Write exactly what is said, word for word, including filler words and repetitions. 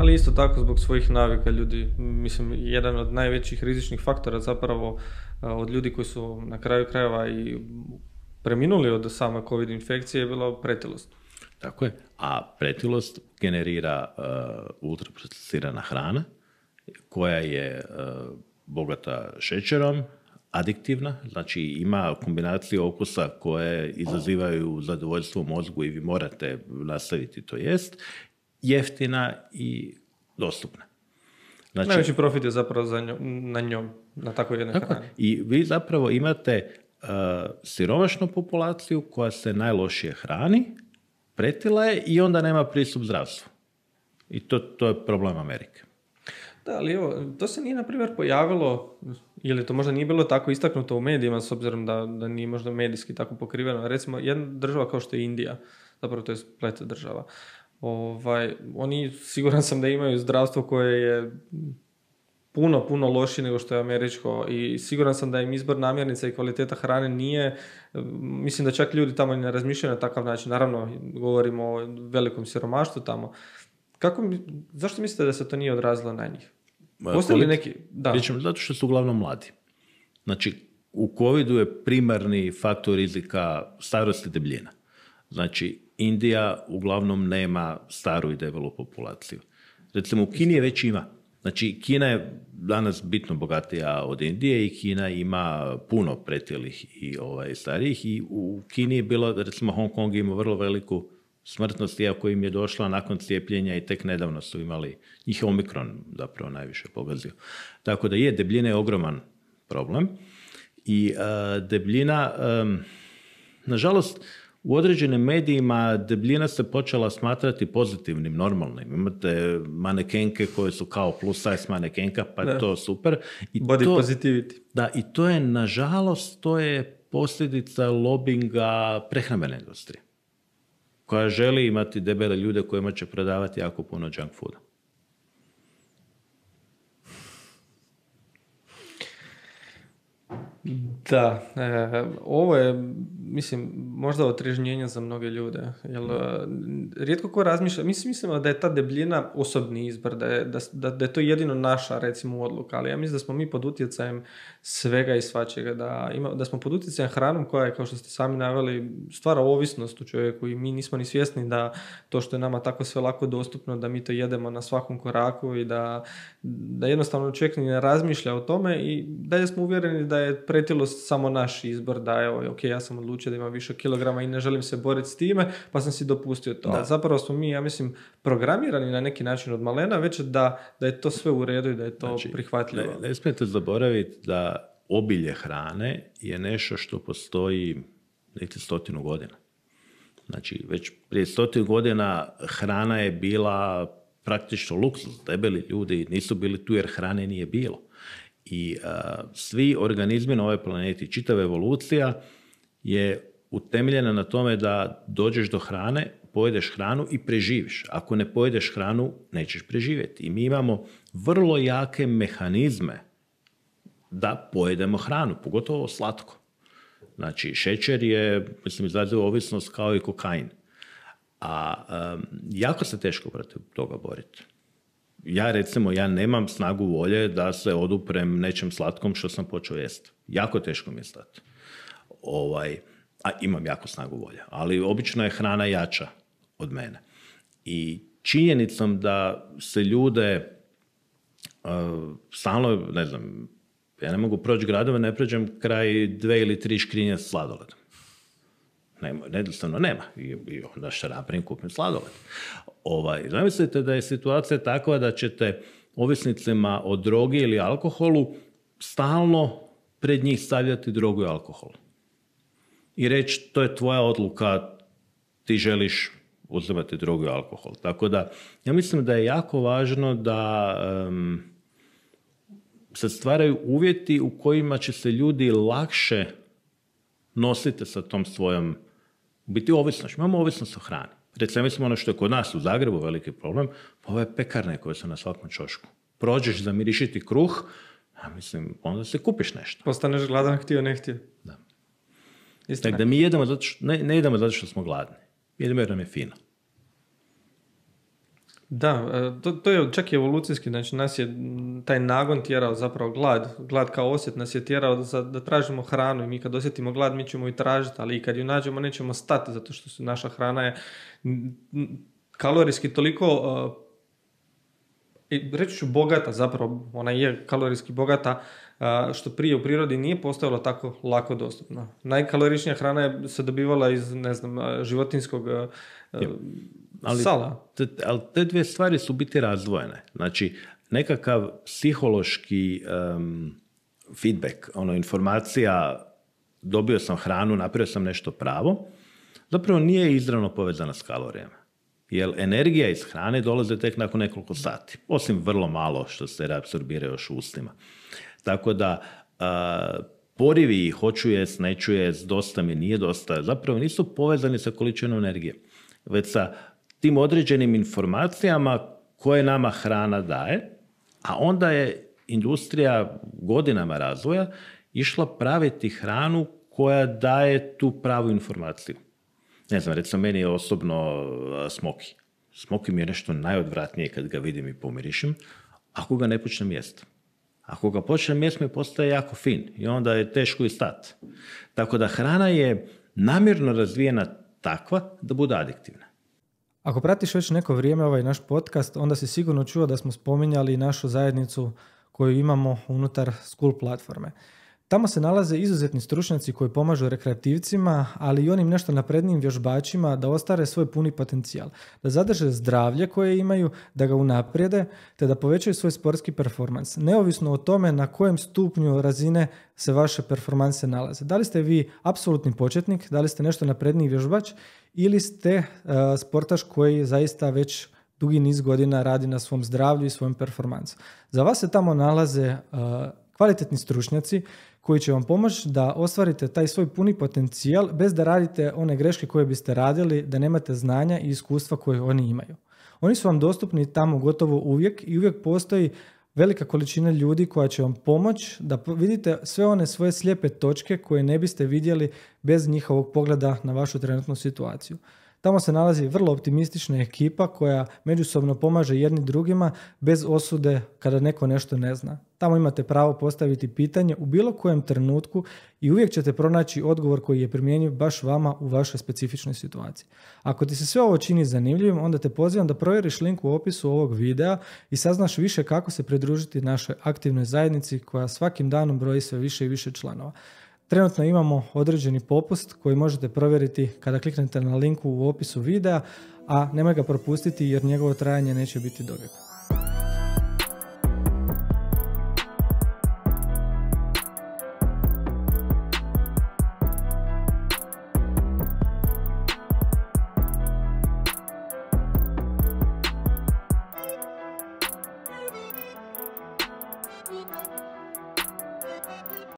Ali isto tako zbog svojih navika ljudi, mislim, jedan od najvećih rizičnih faktora zapravo od ljudi koji su na kraju krajeva i preminuli od same COVID infekcije je bila pretilost. Tako je, a pretilost generira uh, ultraprocesirana hrana koja je uh, bogata šećerom, adiktivna, znači ima kombinaciju okusa koje izazivaju zadovoljstvo u mozgu i vi morate nastaviti to jest, jeftina i dostupna. Znači, najveći profit je zapravo za njom, na njom, na takvoj jednoj tako, hrani. I vi zapravo imate uh, siromašnu populaciju koja se najlošije hrani, pretila je i onda nema pristup zdravstvu. I to, to je problem Amerike. Da, ali evo, to se nije, na primjer, pojavilo, ili to možda nije bilo tako istaknuto u medijima, s obzirom da, da nije možda medijski tako pokriveno. Recimo, jedna država kao što je Indija, zapravo to je splet država, ovaj, oni, siguran sam da imaju zdravstvo koje je puno, puno lošije nego što je američko i siguran sam da im izbor namirnica i kvaliteta hrane nije, mislim da čak ljudi tamo ne razmišljaju na takav način. Naravno, govorimo o velikom siromaštvu tamo. Kako, zašto mislite da se to nije odrazilo na njih? Postoji li neki... Da. Pričam, zato što su uglavnom mladi. Znači, u covidu je primarni faktor rizika starost i debljina. Znači, Indija uglavnom nema staru i debelu populaciju. Recimo, u Kini je već ima. Znači, Kina je danas bitno bogatija od Indije i Kina ima puno pretilih i ovaj, starijih. I u Kini je bilo, recimo, Hong Kong ima vrlo veliku smrtnost, iako im je došla nakon cijepljenja i tek nedavno su imali, njih je Omikron zapravo najviše pogazio. Tako da je, debljina je ogroman problem. I uh, debljina, um, nažalost, u određenim medijima debljina se počela smatrati pozitivnim, normalnim. Imate manekenke koje su kao plus size manekenka, pa je to super. I body to, positivity. Da, i to je, nažalost, to je posljedica lobinga prehrambene industrije, koja želi imati debele ljude kojima će prodavati jako puno junk fooda. Da, e, ovo je, mislim, možda otrežnjenje za mnoge ljude. Jer, rijetko ko razmišlja, mislim, mislimo da je ta debljina osobni izbor, da je, da, da, da je to jedino naša, recimo, odluka, ali ja mislim da smo mi pod utjecajem svega i svačega, da, ima, da smo pod utjecajem hranom koja je, kao što ste sami naveli, stvara ovisnost u čovjeku i mi nismo ni svjesni da to što je nama tako sve lako dostupno, da mi to jedemo na svakom koraku i da, da jednostavno čovjek ni ne razmišlja o tome i dalje smo uvjereni da je pretilost samo naš izbor, da evo, ok, ja sam odlučio da imam više kilograma i ne želim se boriti s time, pa sam si dopustio to. Ali zapravo smo mi, ja mislim, programirani na neki način od malena, već da, da je to sve u redu i da je to znači, prihvatljivo. Ne, ne smijete zaboraviti da obilje hrane je nešto što postoji niti stotinu godina. Znači, već prije stotinu godina hrana je bila praktično luksuz. Debeli ljudi nisu bili tu jer hrane nije bilo. I uh, svi organizmi na ovoj planeti, čitava evolucija je utemeljena na tome da dođeš do hrane, pojedeš hranu i preživiš. Ako ne pojedeš hranu, nećeš preživjeti. I mi imamo vrlo jake mehanizme da pojedemo hranu, pogotovo slatko. Znači, šećer je, mislim, izaziva ovisnost kao i kokain. A um, jako se teško protiv toga boriti. Ja, recimo, ja nemam snagu volje da se oduprem nečem slatkom što sam počeo jesti. Jako teško mi je stati. Ovaj, a imam jako snagu volje, ali obično je hrana jača od mene. I činjenicom da se ljude uh, stalno, ne znam, ja ne mogu proći gradove, ne prođem kraj dve ili tri škrinje s sladoledom. Nema, jednostavno nema. I, i onda što napravim, kupim sladoled. Ovaj, zamislite da je situacija takva da ćete ovisnicima o drogi ili alkoholu stalno pred njih stavljati drogu i alkohol. I reći, to je tvoja odluka, ti želiš uzimati drogu i alkohol. Tako da, ja mislim da je jako važno da um, se stvaraju uvjeti u kojima će se ljudi lakše nositi sa tom svojom, biti ovisnošću. Imamo ovisnost o hrani. Recimo, mislim ono što je kod nas u Zagrebu veliki problem, pa ove pekarne koje su na svakom ćošku. Prođeš zamirišiti kruh, a mislim, onda se kupiš nešto. Postaneš gladan, htio, ne htio. Da. Tako da mi jedemo zato što, ne, ne jedemo zato što smo gladni. Jedemo jer nam je fino. Da, to, to je čak i evolucijski, znači nas je taj nagon tjerao, zapravo glad, glad kao osjet nas je tjerao da, da tražimo hranu i mi kad osjetimo glad mi ćemo ju tražiti, ali i kad ju nađemo nećemo stati zato što su, naša hrana je kalorijski toliko, uh, reći ću bogata zapravo, ona je kalorijski bogata, uh, što prije u prirodi nije postojalo tako lako dostupno. Najkaloričnija hrana je se dobivala iz, ne znam, životinskog uh, Ali sala. Te, ali te dvije stvari su biti razdvojene. Znači, nekakav psihološki um, feedback, ono, informacija, dobio sam hranu, napravio sam nešto pravo, zapravo nije izravno povezana s kalorijama. Jer energija iz hrane dolaze tek nakon nekoliko sati. Osim vrlo malo što se reapsorbira još u ustima. Tako da, uh, porivi, hoću jest, neću jest, dosta mi, nije dosta, zapravo nisu povezani sa količinom energije. Već sa tim određenim informacijama koje nama hrana daje, a onda je industrija godinama razvoja išla praviti hranu koja daje tu pravu informaciju. Ne znam, recimo meni je osobno smoki. Smoki mi je nešto najodvratnije kad ga vidim i pomirišim, ako ga ne počnem jesti. Ako ga počnem jesti mi postaje jako fin i onda je teško i stati. Tako da hrana je namjerno razvijena takva da bude adiktivna. Ako pratiš već neko vrijeme ovaj naš podcast, onda si sigurno čuo da smo spominjali našu zajednicu koju imamo unutar School platforme. Tamo se nalaze izuzetni stručnjaci koji pomažu rekreativcima, ali i onim nešto naprednijim vježbačima da ostvare svoj puni potencijal, da zadrže zdravlje koje imaju, da ga unaprijede, te da povećaju svoj sportski performans, neovisno o tome na kojem stupnju razine se vaše performanse nalaze. Da li ste vi apsolutni početnik, da li ste nešto napredniji vježbač ili ste uh, sportaš koji zaista već dugi niz godina radi na svom zdravlju i svom performansu. Za vas se tamo nalaze uh, kvalitetni stručnjaci koji će vam pomoći da ostvarite taj svoj puni potencijal bez da radite one greške koje biste radili, da nemate znanja i iskustva koje oni imaju. Oni su vam dostupni tamo gotovo uvijek i uvijek postoji velika količina ljudi koja će vam pomoći da vidite sve one svoje slijepe točke koje ne biste vidjeli bez njihovog pogleda na vašu trenutnu situaciju. Tamo se nalazi vrlo optimistična ekipa koja međusobno pomaže jedni drugima bez osude kada neko nešto ne zna. Tamo imate pravo postaviti pitanje u bilo kojem trenutku i uvijek ćete pronaći odgovor koji je primjenjiv baš vama u vašoj specifičnoj situaciji. Ako ti se sve ovo čini zanimljivim, onda te pozivam da provjeriš link u opisu ovog videa i saznaš više kako se pridružiti našoj aktivnoj zajednici koja svakim danom broji sve više i više članova. Trenutno imamo određeni popust koji možete provjeriti kada kliknete na linku u opisu videa, a nemoj ga propustiti jer njegovo trajanje neće biti dovijeka.